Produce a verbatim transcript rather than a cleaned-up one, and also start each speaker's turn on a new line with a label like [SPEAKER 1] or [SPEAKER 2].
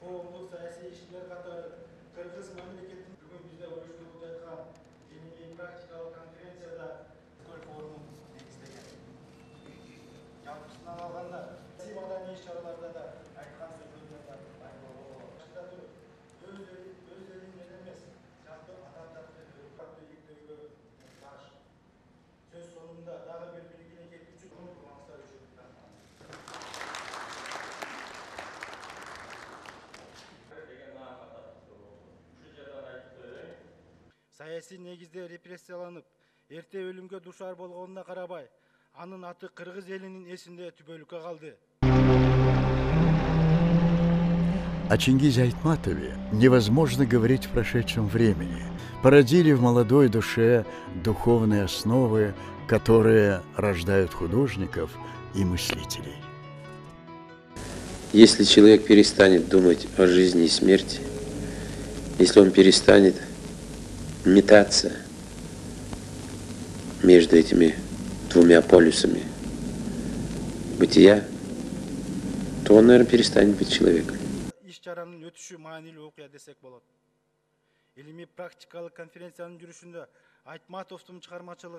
[SPEAKER 1] коомдук саясий ишкерлер катары кыргыз мамлекетинин бүгүн бизде уюштуруп жаткан илимий практикалык конференцияда форумун негиздеген. Жалпысынан алганда саясий маданий иш-чараларда да айткан сөздөрдөн да айтканга болот. Өз өз элиңден эмес, жалпы адамдарды өнүктүүгө муктаж. Сөз соңунда дагы бир белгилей кетүүчү маңыздар үчүн саясий негизде репрессияланып, эрте өлүмгө дуушар болгонуна карабай, анын аты кыргыз элинин эсинде түбөлүккө калды.
[SPEAKER 2] О Чингизе Айтматове невозможно говорить в прошедшем времени. Породили в молодой душе духовные основы, которые рождают художников и мыслителей.
[SPEAKER 3] Если человек перестанет думать о жизни и смерти, если он перестанет метаться между этими двумя полюсами бытия, то он, наверное, перестанет быть человеком.
[SPEAKER 1] Иш-чаранын өтүшү маанилүү окуя десек болот. Илимий практикалык конференциянын жүрүшүндө Айтматовдун чыгармачылыгы